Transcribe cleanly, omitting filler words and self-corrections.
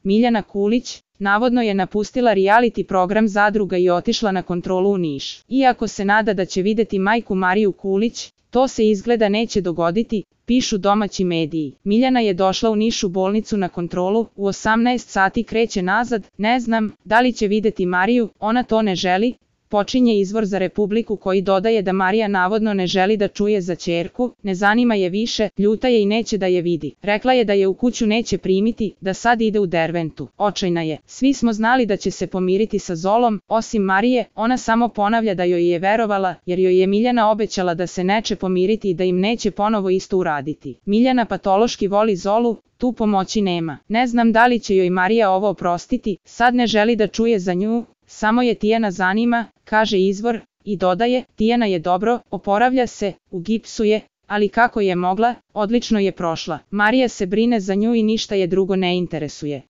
Miljana Kulić, navodno je napustila reality program Zadruga i otišla na kontrolu u Niš. Iako se nada da će videti majku Mariju Kulić, to se izgleda neće dogoditi, pišu domaći mediji. Miljana je došla u Niš u bolnicu na kontrolu, u 18 sati kreće nazad, ne znam da li će videti Mariju, ona to ne želi, počinje izvor za Republiku koji dodaje da Marija navodno ne želi da čuje za ćerku, ne zanima je više, ljuta je i neće da je vidi. Rekla je da je u kuću neće primiti, da sad ide u Derventu. Očajna je. Svi smo znali da će se pomiriti sa Zolom, osim Marije, ona samo ponavlja da joj je verovala, jer joj je Miljana obećala da se neće pomiriti i da im neće ponovo isto uraditi. Miljana patološki voli Zolu, tu pomoći nema. Ne znam da li će joj Marija ovo oprostiti, sad ne želi da čuje za nju, samo je Tijana zanima, kaže izvor, i dodaje, Tijana je dobro, oporavlja se, u gipsu je, ali kako je mogla, odlično je prošla. Marija se brine za nju i ništa je drugo ne interesuje.